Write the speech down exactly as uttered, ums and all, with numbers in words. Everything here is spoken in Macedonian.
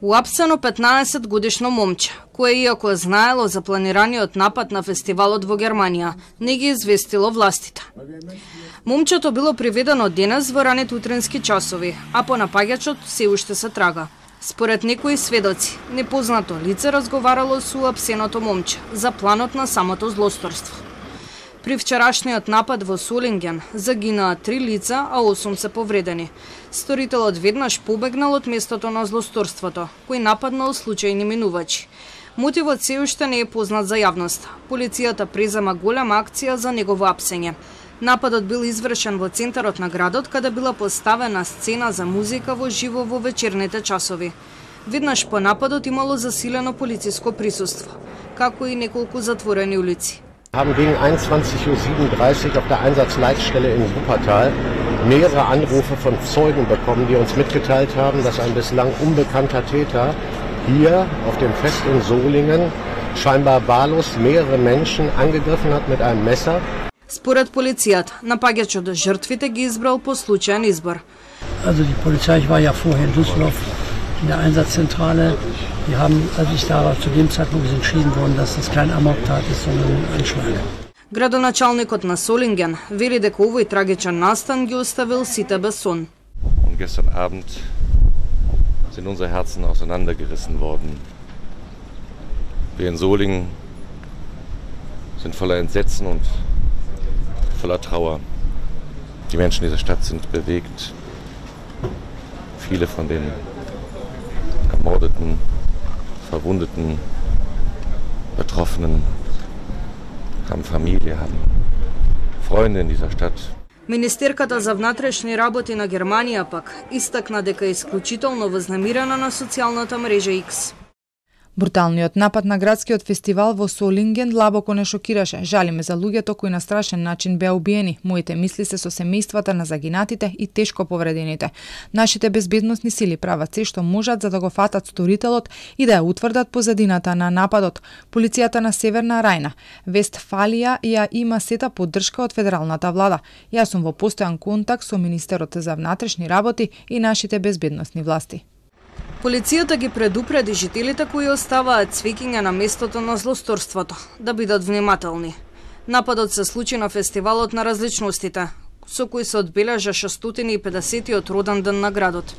Уапсено петнаесет годишно момче, кое иако знаело за планираниот напад на фестивалот во Германија, не ги известило властите. Момчето било приведено денес во ранет утрински часови, а по напаѓачот се уште се трага. Според некои сведоци, непознато лице разговарало со уапсеното момче за планот на самото злосторство. При вчерашниот напад во Солинген загинаа три лица, а осум се повредени. Сторителот веднаш побегнал од местото на злосторството, кој нападнал случајни минувачи. Мотивот се уште не е познат за јавноста. Полицијата презема голема акција за негово апсење. Нападот бил извршен во центарот на градот, каде била поставена сцена за музика во живо во вечерните часови. Веднаш по нападот имало засилено полициско присуство, како и неколку затворени улици. Haben gegen einundzwanzig Uhr siebenunddreißig auf der Einsatzleitstelle in Wuppertal mehrere Anrufe von Zeugen bekommen, die uns mitgeteilt haben, dass ein bislang unbekannter Täter hier auf dem Fest in Solingen scheinbar wahllos mehrere Menschen angegriffen hat mit einem Messer. Според полицијата, напаѓачот жртвите ги избрал по случаен избор. Also die Polizei, ich war ja vorher in Düsseldorf in der Einsatzzentrale. Wir haben, als ich da war, zu dem Zeitpunkt entschieden worden, dass das kein Amoktat ist, sondern ein Anschlag. Градоначалникот на Солинген вели дека овој трагичен настан ги оставил сите без сон. Und gestern Abend sind unsere Herzen auseinandergerissen worden. Wir in Solingen sind voller Entsetzen und voller Trauer. Die Menschen dieser Stadt sind bewegt. Viele von den Ermordeten, Verwundeten, Betroffenen haben Familie, haben Freunde in dieser Stadt. Министерката за внатрешни работи на Германија пак истакна дека е исклучително вознемирена на социјалната мрежа X. Бруталниот напад на градскиот фестивал во Солинген длабоко не шокираше. Жалиме за луѓето кои на страшен начин беа убиени. Моите мисли се со семејствата на загинатите и тешко повредените. Нашите безбедносни сили прават се што можат за да го фатат сторителот и да ја утврдат позадината на нападот. Полицијата на Северна Рајна, Вестфалија ја има сета поддршка од федералната влада. Јас сум во постојан контакт со министерот за внатрешни работи и нашите безбедносни власти. Полицијата ги предупреди жителите кои оставаат цвеќиња на местото на злосторството да бидат внимателни. Нападот се случи на фестивалот на различностите, со кој се одбележа шестстотини и педесетиот роден ден на градот.